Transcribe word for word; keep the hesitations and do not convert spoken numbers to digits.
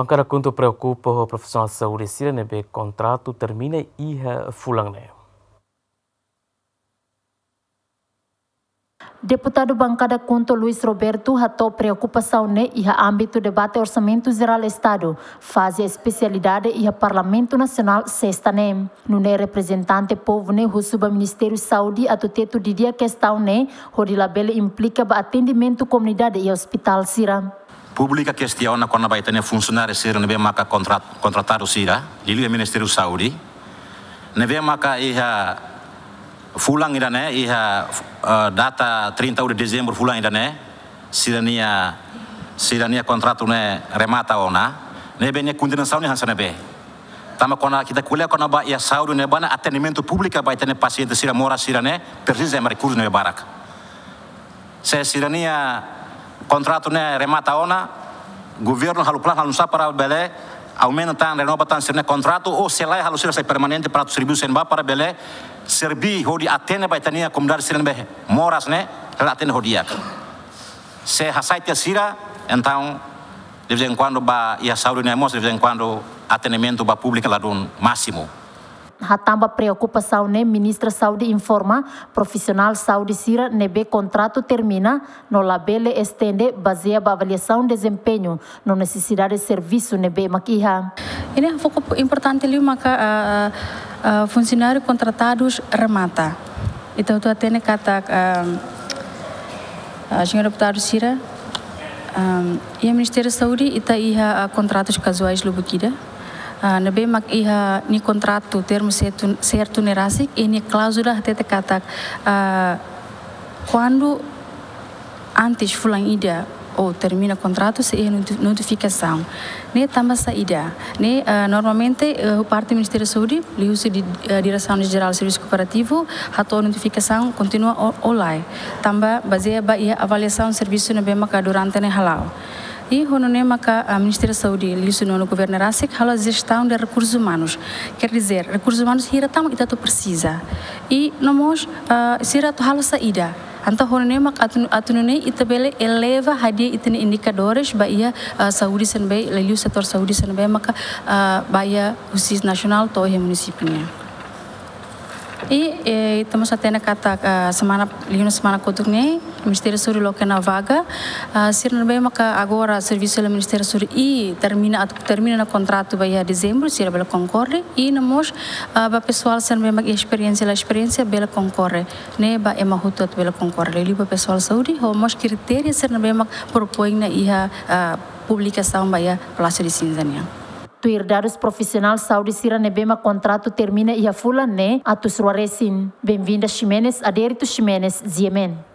Bankada KHUNTO preokupa ho profisionál saúde sira ne'ebé kontratu termina iha fulan ne'e. Deputadu Bankada KHUNTO Luis Roberto hato'o preokupasaun ne'e iha ámbitu debate Orsamentu Jerál Estadu, faze espesialidade iha Parlamentu Nasionál sesta ne'e. Nune'e reprezentante povu ne'e husu ba Ministériu Saúde atu tetu didi'ak kestaun ne'e, hodi labele implika ba atendimentu komunidade iha ospitál sira. Públiku kestiona kona-ba ita-nia funsionáriu sira ne'ebé maka kontrat-, kontratadu sira, liuliu Ministériu Saúde, ne'ebé maka iha fulan ida-ne'e, iha, eh, data trinta de dezembro fulan ida-ne'e, sira-nia, sira-nia kontratu ne'e remata ona, ne'ebé nia kondisaun ne'e hanesan ne'ebé. Tanba kuandu ita ko'alia kona-ba iha saúde ne'ebá ne'e, atendimentu públiku ba ita-nia pasiente sira moras sira ne'e, presiza ema rekursu ne'ebé barak. Se sira-nia kontratu ne'e remata ona, governu halo planu halo nusá para bele aumenta tan, renova tan sira-nia kontratu, ou se lae halo sira sai permanente para atu servisu iha ne'ebá para bele serbí hodi atende ba ita-nia komunidade sira ne'ebé moras ne'e, hela atende ho di'ak. Se hasai tiha sira, entaun, de vez em quando ba iha saúde ne'e mós, de vez em quando atendimentu ba públiku ladún másimu. Hatán ba preokupasaun ne'e, Ministra Saúde informa, profisionál saúde sira ne'ebé kontratu termina no labele estende, bazeia ba avaliasaun dezempeñu no nesesidade servisu ne'ebé mak iha. Ida-ne'e foku importante liu maka, ah, ah, ah, funsionáriu kontratadus remata. Ita hotu hatene katak, ah, ah, señór deputadu sira, ah, iha Ministériu Saúde ita iha, ah, kontratus kazuais lubuk ida. Ah, ne'ebé mak iha nia kontratu termu sertu, sertu ne'e rasik, i nia kláuzula hatete katak, ah, kuandu antes fulan ida ou termina kontratu sei iha noti-, notifikasaun. Ne'e tanba saida? Ne'e, ah, normalmente, eh, parte Ministériu Saúde, liuhusi di, eh, Diresaun Jerál Servisu Kooperativu, hato'o notifikasaun kontinua ou, ou lae. Tanba bazeia ba iha avaliasaun servisu ne'ebé maka durante ne'e hala'o. I ho nune'e maka, ah, Ministériu Saúde, liuhusi nonu governu ne'e rasik, halo jestaun de rekursus umanus. Quer dizer, rekursus umanus hira tan mak ita atu presiza. I no mós, ah, sira atu halo saida. Entaun ho nune'e mak atu, atu nune'e ita bele eleva hadi'a ita-nia indikadores ba iha, ah, saúde sira ne'ebé, liuliu setór saúde sira ne'ebé maka, ah, ba iha husi nasionál to'o iha munisípiu nian. I, eh, ita mós hatene katak, ah, semana, liu semana kotuk ne'e, Ministériu Saúde loke ona vaga, ah, sira ne'ebé maka agora servisu iha Ministériu Saúde i termina, atu termina ona kontratu ba iha dezembru, sira bele konkorre, i no mós, ah, ba pesoál sira ne'ebé mak iha esperiénsia, la esperiénsia, bele konkorre, ne'e ba ema hotu atu bele konkorre, liuliu ba pesoál saúde, ho mós kritéria sira ne'ebé mak propoin ona iha, ah, publikasaun ba iha Palásiu de Cinza nian. Tuir dadus, profisionál saúde sira ne'ebé mak kontratu termina iha fulan ne'e atus rua resin. Benvinda Ximenes, Adérito Ximenes, G M N.